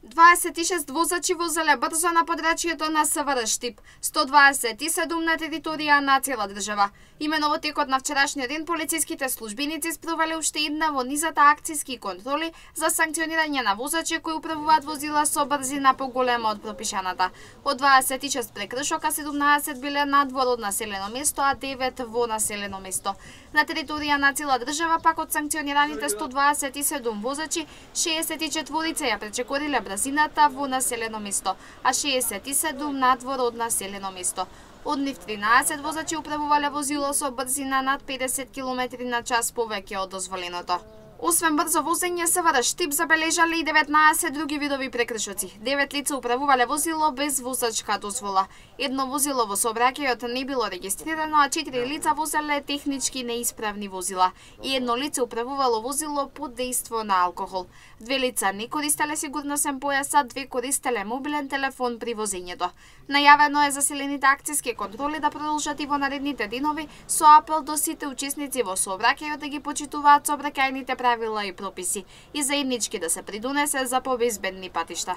26 возачи возеле брзо на подрачјето на СВР Штип, 127 на територија на цела држава. Имено во текот на вчерашниот ден полициските службеници спровеле уште една во низата акциски контроли за санкционирање на возачи кои управуваат возила со брзина поголема од пропишаната. Од 26 прекршока 17 биле надвор од населено место, а 9 во населено место. На територија на цела држава пак од санкционираните 127 возачи, 64 ја пречекориле брзината во населено место, а 67 надвор од населено место. Од нив 13 возачи управувале возило со брзина над 50 км на час повеќе од дозволеното. Освен брзо возење, СВР Штип забележале и 19 други видови прекршоци. 9 лица управувале возило без возачка дозвола. Едно возило во сообраќајот не било регистрирано, а 4 лица возеле технички неисправни возила. И едно лице управувало возило под дејство на алкохол. 2 лица не користеле сигурносен појас, а 2 користеле мобилен телефон при возењето. Најавено е заселените акциски контроли да продолжат и во наредните денови со апел до сите учесници во сообраќајот да ги почитуваат сообраќајните правила и прописи и заеднички да се придонесе за побезбедни патишта.